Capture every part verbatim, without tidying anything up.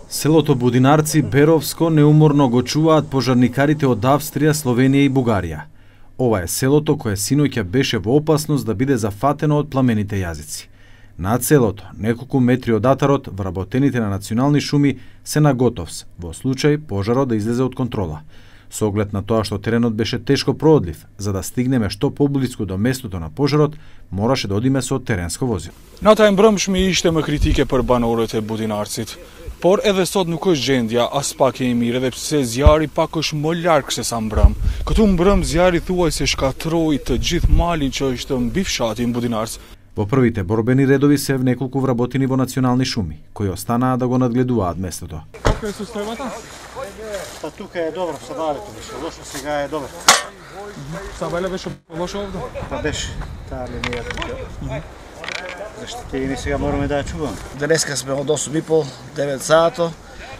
Селото Будинарци, Беровско, неуморно го чуваат пожарникарите од Австрија, Словенија и Бугарија. Ова е селото кое синоќа беше во опасност да биде зафатено од пламените јазици. Над селото, неколку метри од атарот, вработените на национални шуми се на готовс, во случај пожарот да излезе од контрола. Со оглед на тоа што теренот беше тешко проодлив, за да стигнеме што поблиску до местото на пожарот, мораше да одиме со теренско возило. Ната мбрëmshmi ishte më kritike për banorët e Budinarcit, por edhe sot nuk është gjendja as pak e mirë, edhe pse zjarri pak është më larg se sa mbrëm. Këtu mbrëm zjarri thuajse shkatroi të gjithë malin që është mbi fshatin Budinarc. Во првите борбени редови се неколку вработени во национални шуми, кои останаа да го надгледуваат местото. Како е состојбата? Па тука е добро, сабалето беше лошо, сега е добро. Сабале беше лошо овде? Па беше, таа линија тука. Зашто и ние сега мораме да ја чуваме. Денеска сме од осум и пол, девет саато.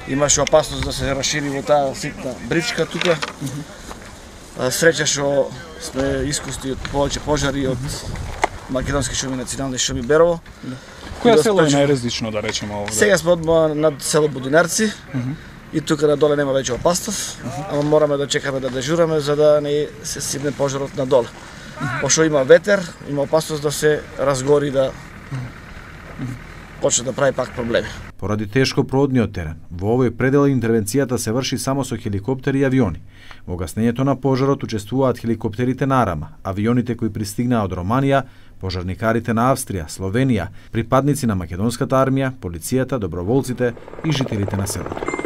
Имаше опасност да се расшири во таа ситна бричка тука. Среќа што сме искусни од повеќе пожари од македонски шуми, национални шуми Берово. Која село е најразлично, да речеме овде? Сега сме одма над село Будинарци. И тука надоле нема веќе опасност, ама мораме да чекаме да дежураме за да не се сипне пожарот надоле. Пошто има ветер, има опасност да се разгори, да почне да прави пак проблеми. Поради тешко проодниот терен, во овој предел интервенцијата се врши само со хеликоптери и авиони. Во гаснењето на пожарот учествуваат хеликоптерите на Арама, авионите кои пристигнаа од Романија, пожарникарите на Австрија, Словенија, припадници на македонската армија, полицијата, доброволците и жителите на селото.